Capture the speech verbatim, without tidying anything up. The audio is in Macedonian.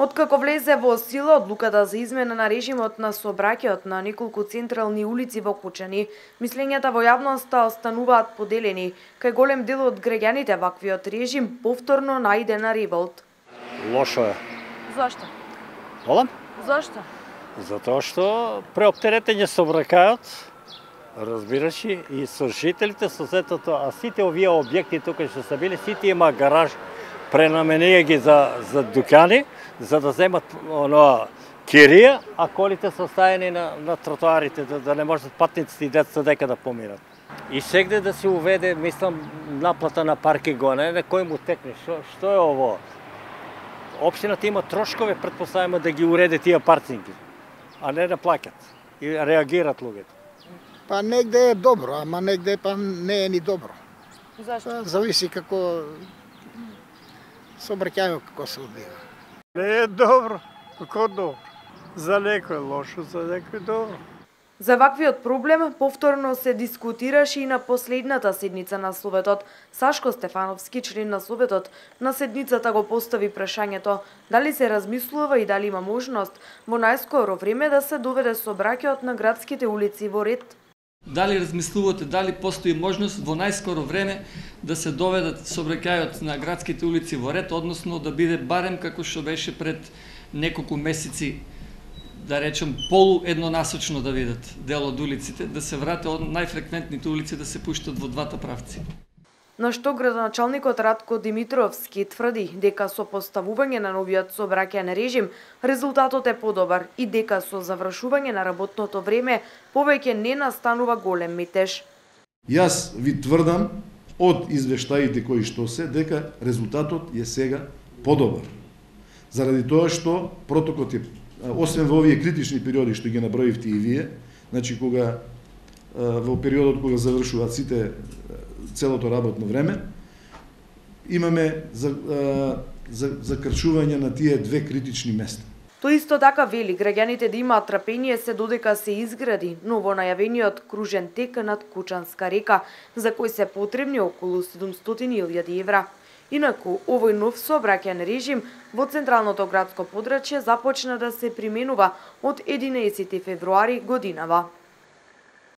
Откако влезе во сила одлуката за измена на режимот на сообраќајот на неколку централни улици во Кучани, мислењата во јавноста остануваат поделени. Кај голем дел од граѓаните ваквиот режим повторно најде на револт. Лошо е. Зошто? Волам? Зошто? Затоа што преоптеретење сообраќајот, разбираш, и со жителите, со сетото, а сите овие објекти тука што се били, сите има гараж, пренаменија ги за за дуќани, за да земат оно кирија, а колите се оставени на на тротоарите, да, да не можат патниците и децата дека да поминат. И сегде да се уведе, мислам, наплата на паркинг, не на кој му текне. Што што е ово? Општината има трошкове, претпоставимо да ги уреде тие паркинги, а не да плаќат и реагират луѓето. Па негде е добро, ама негде па не е ни добро. Зашто? Па, зависи како сообраќајот како се одвива. Не е добро, како добро. За некој лошо, за некој добро. За ваквиот проблем повторно се дискутираше и на последната седница на Советот. Сашко Стефановски, член на Советот, на седницата го постави прашањето дали се размислува и дали има можност во најскоро време да се доведе сообраќајот на градските улици во ред. Дали размислувате, дали постои можност во најскоро време да се доведат сообраќајот на градските улици во ред, односно да биде барем како што беше пред неколку месеци, да речем, полу еднонасочно да видат дел од улиците, да се врате од најфреквентните улици да се пуштат во двата правци. На што градоначалникот Радко Димитровски тврди дека со поставување на новиот сообраќајен режим резултатот е подобар и дека со завршување на работното време повеќе не настанува голем метеж. Јас ви тврдам од извештаите кои што се дека резултатот е сега подобар. Заради тоа што протокот е, освен во овие критични периоди што ги наброивте и вие, значи кога во периодот кога завршуваат сите целото работно време, имаме за, за, закрчување на тие две критични места. Тој исто така вели граѓаните да имаат трпение се додека се изгради ново најавениот кружен тек над Кучанска река, за кој се потребни околу седумстотини илјади евра. Инаку, овој нов сообраќајен режим во централното градско подрачје започна да се применува од единаесети февруари годинава.